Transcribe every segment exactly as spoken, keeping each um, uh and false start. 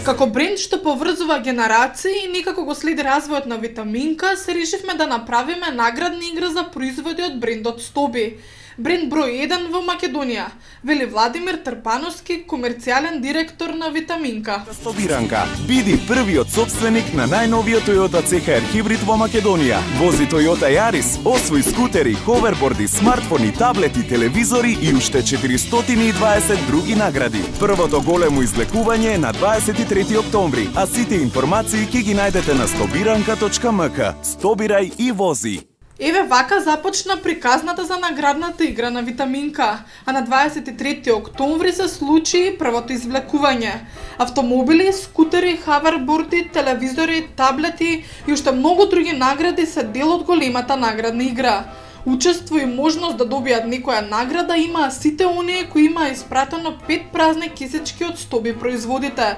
Како бренд што поврзува генерации и некако го следи развојот на Витаминка, се решивме да направиме наградна игра за производи од брендот Стоби. Бренд број еден во Македонија, вели Владимир Трпановски, комерцијален директор на Витаминка. Стобиранка, биди првиот собственик на најновиот Toyota C H R хибрид во Македонија. Вози Toyota Yaris, освои скутери, ховерборди, смартфони, таблети, телевизори и уште четиристотини и дваесет други награди. Првото големо излекување е на дваесет и трети октомври, а сите информации ќе ги најдете на стобиранка точка м к. Стобирај и вози. Еве вака започна приказната за наградната игра на Витаминка, а на дваесет и трети октомври се случи првото извлекување. Автомобили, скутери, хаверборди, телевизори, таблети и уште многу други награди се дел од големата наградна игра. Учество и можност да добијат некоја награда имаа сите оние кои имаа испратено пет празни кесички од Стоби производите.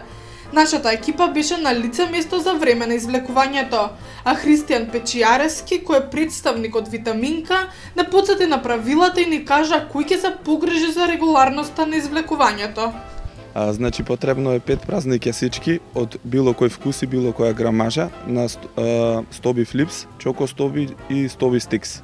Нашата екипа беше на лице место за време на извлекувањето, а Христијан Печијарески, кој е представник од Витаминка, не потсети на правилата и ни кажа кој ќе се погрижи за регуларноста на извлекувањето. А, значи потребно е пет празни кесички од било кој вкус и било која грамажа на Стоби Флипс, Чоко Стоби и Стоби Стикс.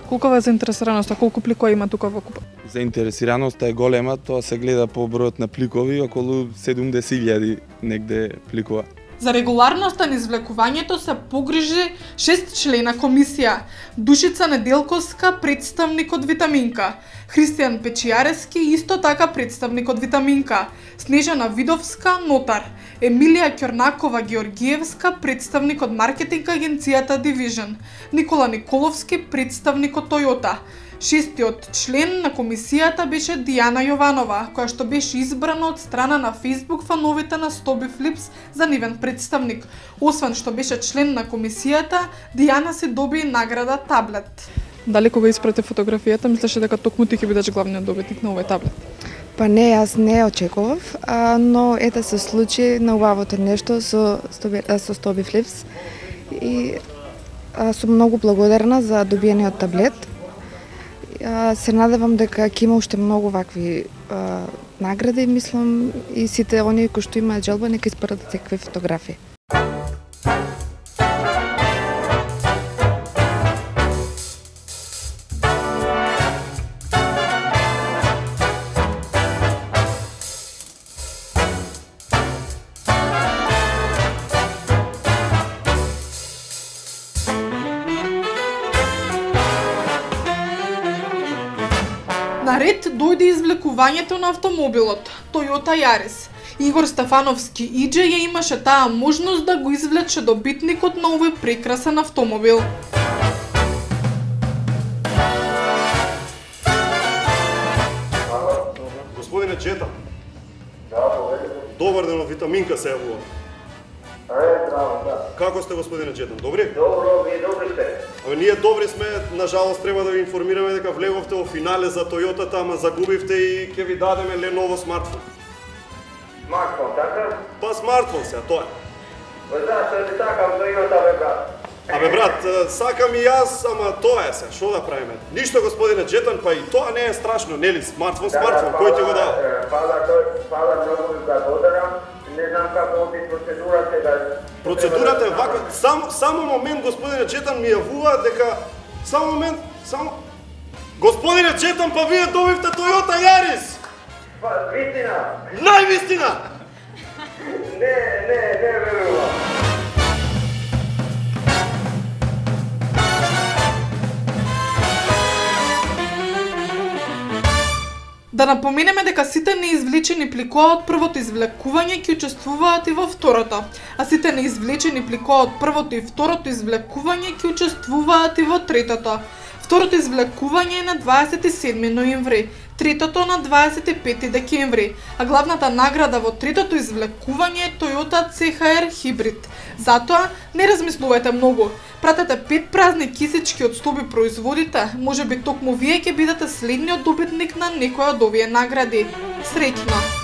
Колкава е заинтересираноста, колку пликови има тука во купа? Заинтересираноста е голема, тоа се гледа по бројот на пликови, околу седумдесет илјади негде пликова. За регуларноста на извлекувањето се погрижи шест члена комисија. Душица Неделковска, представник од Витаминка. Христијан Печијарески, исто така представник од Витаминка. Снежана Видовска, нотар. Емилија Ќорнакова Георгиевска, представник од маркетинг агенцијата Division. Никола Николовски, представник од Toyota. Шестиот член на комисијата беше Дијана Јованова, која што беше избрана од страна на Facebook фановите на Стоби Флипс за нивен представник. Освен што беше член на комисијата, Дијана си доби награда таблет. Дали кога испрати фотографијата, мислеше дека токму ти ќе бидеш главниот добитник на овој таблет? Па не, јас не очекував, а, но ете се случи на убавото нешто со Стоби, со Стоби Флипс и а, сум многу благодарна за добиениот таблет. А, се надевам дека ќе има уште многу вакви а, награди, мислам, и сите оние кои што имаат желба нека испратат секакви фотографии. Наред дојде извлекувањето на автомобилот Toyota Yaris. Игор Стефановски Иџе ја имаше таа можност да го извлече добитникот на овој прекрасен автомобил. Господине Джета. Добар ден, од Витаминка се јавува. Како сте, господине Джетан? Добри? Добро, вие добри сте. Абе, ние добри сме, нажалост треба да ви информираме дека влеговте во финале за Тојотата, ама загубивте и ќе ви дадеме Lenovo смартфон. Смартфон, така? Па смартфон се, тоа е. Па знаеш, што ти сакам Тојота, бе, брат. Абе, брат, сакам и јас, ама тоа е се, шо да правиме? Ништо, господине Джетан, па и тоа не е страшно, нели? Смартфон, смартфон, кој ти го дава? Фала, фала многу за благодарам. Не знам како оди процедурата да... Процедурата е ваква. Сам, само момент, господине Джетан, ми јавува дека... Само момент, само... Господине Джетан, па вие добивте Toyota Yaris! Па, вистина! Највистина! Не, не, не верувам. Да напоменеме дека сите неизвлечени пликоа од првото извлекување ќе учествуваат и во второто, а сите неизвлечени пликоа од првото и второто извлекување ќе учествуваат и во третото. Второто извлекување е на дваесет и седми ноември, третото на дваесет и пети декември, а главната награда во третото извлекување е Toyota C H R хибрид. Затоа не размислувајте многу. Пратете пет празни кисички од Стоби производите, може би токму вие ќе бидете следниот добитник на некоја од овие награди. Среќно!